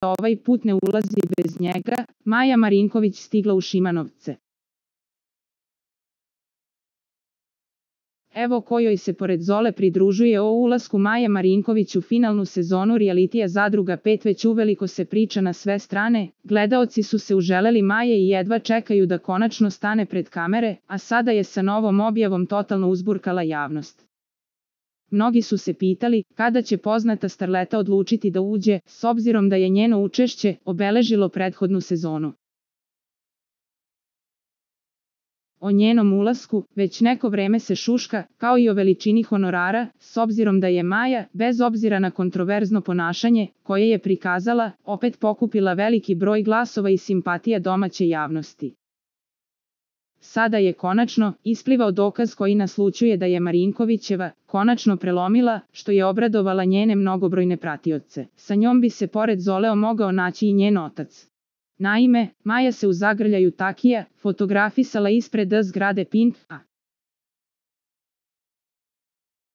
ovaj put ne ulazi bez njega, Maja Marinković stigla u Šimanovce. Evo kojoj se pored Zole pridružuje o ulasku Maje Marinković u finalnu sezonu realitija Zadruga 5 već uveliko se priča na sve strane, gledaoci su se uželeli Maje i jedva čekaju da konačno stane pred kamere, a sada je sa novom objavom totalno uzburkala javnost. Mnogi su se pitali kada će poznata starleta odlučiti da uđe, s obzirom da je njeno učešće obeležilo prethodnu sezonu. O njenom ulasku već neko vreme se šuška, kao i o veličini honorara, s obzirom da je Maja, bez obzira na kontroverzno ponašanje koje je prikazala, opet pokupila veliki broj glasova i simpatija domaće javnosti. Sada je konačno isplivao dokaz koji naslućuje da je Marinkovićeva konačno prelomila, što je obradovala njene mnogobrojne pratioce. Sa njom bi se pored Zoleo mogao naći i njen otac. Naime, Maja se u zagrljaju Takija fotografisala ispred zgrade Pink-a.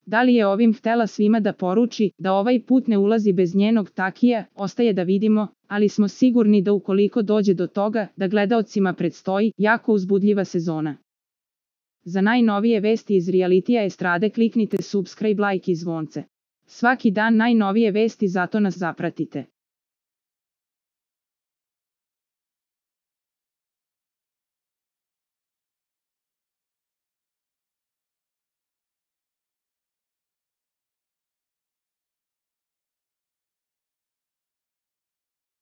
Da li je ovim htela svima da poruči da ovaj put ne ulazi bez njenog Takija, ostaje da vidimo, ali smo sigurni da ukoliko dođe do toga da gledaocima predstoji jako uzbudljiva sezona. Za najnovije vesti iz realitija estrade kliknite subscribe, like i zvonce. Svaki dan najnovije vesti, zato nas zapratite.